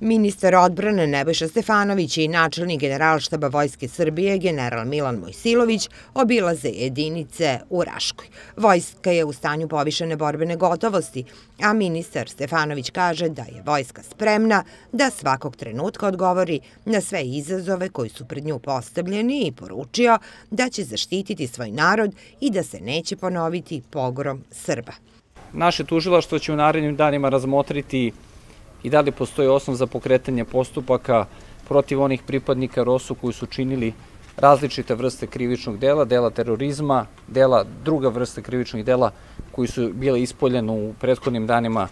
Ministar odbrane Nebojša Stefanović i načelnik Generalštaba Vojske Srbije general Milan Mojsilović obilaze jedinice u Raškoj. Vojska je u stanju povišene borbene gotovosti, a ministar Stefanović kaže da je vojska spremna da svakog trenutka odgovori na sve izazove koji su pred nju postavljeni i poručio da će zaštititi svoj narod i da se neće ponoviti pogrom Srba. Naše tužilaštvo će u narednim danima razmotriti i da li postoji osnov za pokretanje postupaka protiv onih pripadnika ROSU koji su činili različite vrste krivičnog dela, dela terorizma, druga vrste krivičnih dela koji su bile ispoljene u prethodnim danima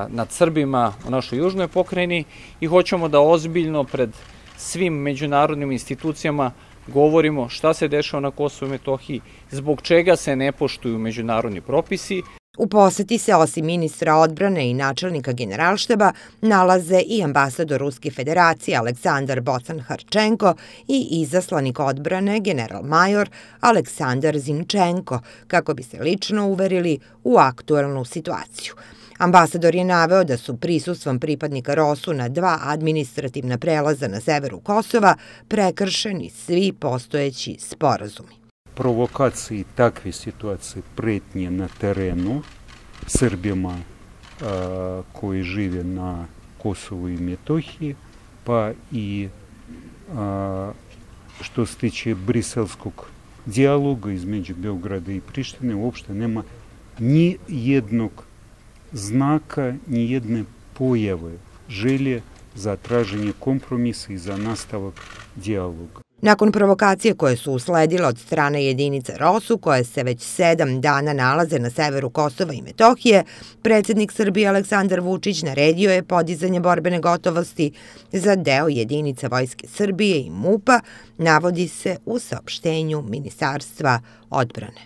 nad Srbima u našoj južnoj pokrajini i hoćemo da ozbiljno pred svim međunarodnim institucijama govorimo šta se dešava na Kosovu i Metohiji, zbog čega se ne poštuju međunarodni propisi. U poseti se osim ministra odbrane i načelnika Generalštaba nalaze i ambasador Ruske federacije Aleksandar Bocan-Harčenko i izaslanik odbrane general-major Aleksandar Zinčenko, kako bi se lično uverili u aktuelnu situaciju. Ambasador je naveo da su prisustvom pripadnika ROSU na 2 administrativna prelaza na severu Kosova prekršeni svi postojeći sporazumi. Провокації такві ситуації притні на терену Srbima koji žive na Kosovu i Metohiji, pa i što se tiče briselskog dijaloga između Beograda i Prištine, uopšte nema ni jednog znaka, ni jedne pojave želje za traženje kompromisa i za nastavak dijaloga. Nakon provokacije koje su usledile od strane jedinica ROSU, koje se već 7 dana nalaze na severu Kosova i Metohije, predsjednik Srbije Aleksandar Vučić naredio je podizanje borbene gotovosti za deo jedinica Vojske Srbije i MUP-a, navodi se u saopštenju Ministarstva odbrane.